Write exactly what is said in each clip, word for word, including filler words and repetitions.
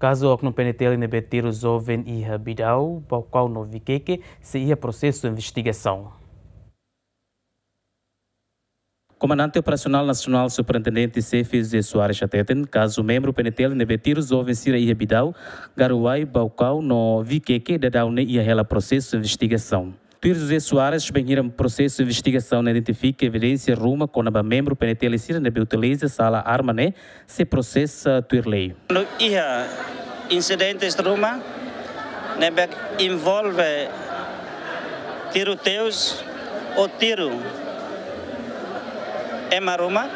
Kazu oknum P N T L ne'ebé tiru joven iha Bidau, Baucau no Viqueque sei iha prosesu investigasaun. Komandante Operasionál Nasionál Superintendente Xefe José Soares hateten, kazu membru P N T L ne'ebé tiru joven sira iha Bidau, Garuai, Baucau no Viqueque daudaun ne'e iha hela prosesu investigasaun. Tuir José Soares, bainhira prosesu investigasaun ne'e identifika evidénsia ruma kona-ba membru P N T L sira ne'ebé utiliza sala arma ne'e, sei prosesa tuir lei. Kuandu iha insidentes ruma ne'ebé envolve tiruteus ou tiru ema ruma,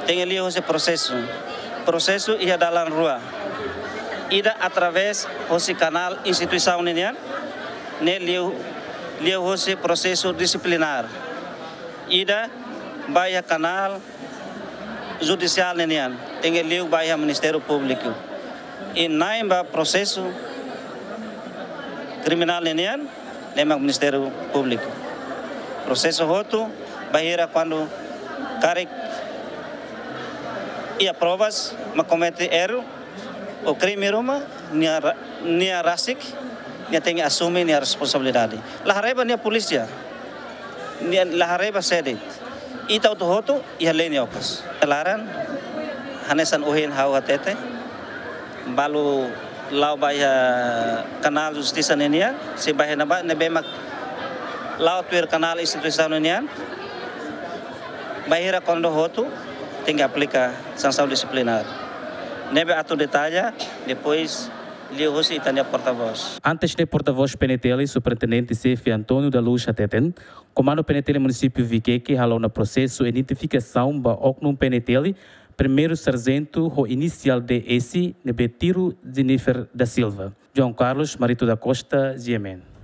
tenke liu hosi prosesu. Prosesu iha dalan rua. Ida através hosi kanál instituisaun ninian, ne'e liu, liu hosi prosesu disiplinár. Ida ba iha kanál judisiál ninian, tenke liu ba iha Ministériu Públiku. I na'in ba prosesu kriminál ninian, ne'e mak Ministériu Públiku. Prosesu hotu, bainhira kuandu karik iha provas mak komete erru ou krime ruma, nia ra-, nia rasik, nia tenke asume nia responsabilidade. La haree ba nia polísia, nia la haree ba sé de'it. Ita hotu-hotu iha lei nia okos. Laran, hanesan ohin ha'u hatete, balu la'o ba iha kanál justisa ninian, sei ba iha ne'ebá, ne'ebé mak la'o tuir kanál instituisaun ninian, bainhira kuandu hotu, tenke aplika sansaun disiplinár. Ne'ebé atu detalla, depois liu hosi ita-nia portavós. Antes ne'e portavós P N T L, Superintendente Xefe António da Luz hateten, Komandu P N T L Munisípiu Viqueque halo ona prosesu identifikasaun ba oknum P N T L, Primeiru Sarjentu ho inisiál D S, ne'ebé tiru Jennifer da Silva. João Carlos, Marito da Costa, G M N.